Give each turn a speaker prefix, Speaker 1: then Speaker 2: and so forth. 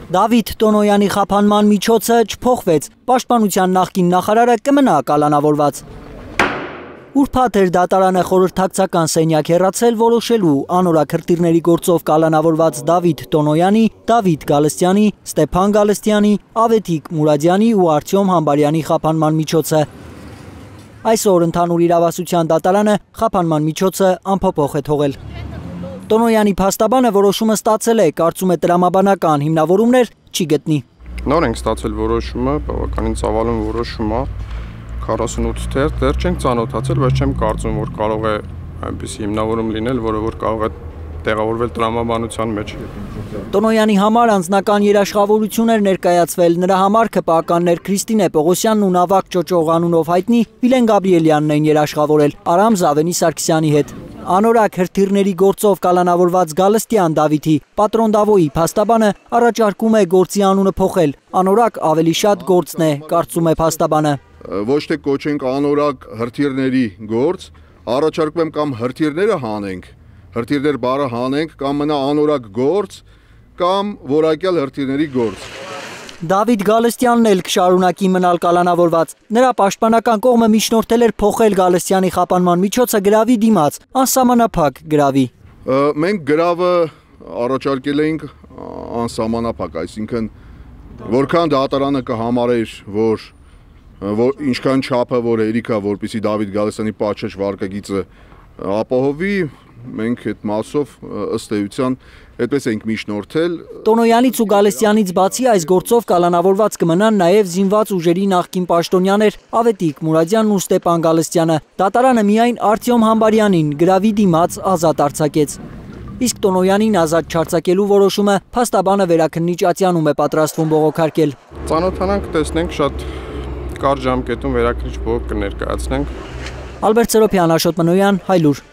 Speaker 1: Դավիթ Տոնոյանի խափանման միջոցը չփոխվեց, պաշտպանության նախկին նախարարը կմնա կալանավորված։ Ուրբաթ էր դատարանը խորհրդակցական սենյակ հեռացել որոշելու անորակ հրթիռների գործով կալանավորված Դավիթ Տոնոյանի, Դավիթ Գալստյանի, Ստեփան Գալստյանի, Ավետիք Մուրադյանի ու Արտյոմ Համբարյանի խափանման միջոցը։ Այսօր ընդհանուր իրավասության դատարանը խափանման միջոցը անփոփոխ է թողել։ Տոնոյանի փաստաբանը որոշումը ստացել է, կարծում է տրամաբանական հիմնավորումներ չի գտնի։
Speaker 2: Նոր ենք ստացել որոշումը, բավականին ծավալուն որոշում է, 48 թերթ, դեռ չենք ծանոթացել, բայց չեմ կարծում, որ կարող է այնպիսի հիմնավորում լինել, որը որ կարող է տեղավորվել տրամաբանության մեջ։
Speaker 1: Տոնոյանի համար անձնական երաշխավորություն էր ներկայացվել, նրա համար ԿՊԱ-ականներ Քրիստինե Պողոսյանն ու Նավակ Ճոճող անունով հայտնի Վիլեն Գաբրիելյանն են երաշխավորել Արամ Զավենի Սարգսյանի հետ։ Անորակ հրթիռների գործով կալանավորված Գալստյան Դավիթի պատրոնդավոյի փաստաբանը առաջարկում է գործի անունը փոխել։ Անորակ ավելի շատ գործն է, կարծում է փաստաբանը։
Speaker 3: Ոչ թե կոչենք անորակ հրթիռների գործ, առաջարկում եմ կամ հրթիռները հանենք, հրթիռներ բառը հանենք, կամ մնա անորակ գործ, կամ որակյալ հրթիռների գործ։
Speaker 1: Դավիթ Գալստյանն էլ կշարունակի մնալ կալանավորված։ Նրա պաշտպանական կողմը միջնորդել էր փոխել Գալստյանի խափանման միջոցը գրավի դիմաց, անսահմանափակ գրավի։
Speaker 3: Մենք գրավը առաջարկել էինք անսահմանափակ, այսինքն որքան դատարանը կհամարեր, որ ինչքան չափը որ հերիքա, որպեսզի Դավիթ Գալստյանի պատշաճ վարկագիծը ապահովի, մենք այդ մասով ըստ էության այդպես ենք միջնորդել։
Speaker 1: Տոնոյանից ու Գալստյանից բացի այս գործով կալանավորված կմնան նաև զինված ուժերի նախկին պաշտոնյաներ Ավետիք Մուրադյանն ու Ստեփան Գալստյանը։ Դատարանը միայն Արտյոմ Համբարյանին գրավի դիմաց ազատ արձակեց։ Իսկ Տոնոյանին ազատ չարձակելու որոշումը փաստաբանը Վերաքննիչ Ատյանում է պատրաստվում բողոքարկել։
Speaker 2: Ծանոթանանք, տեսնենք, շատ կարճ ժամկետում Վերաքննիչ բողոք կներկայացնենք։
Speaker 1: Ալբերտ Սերոբյան, Աշոտ Մնոյան, Հայլուր։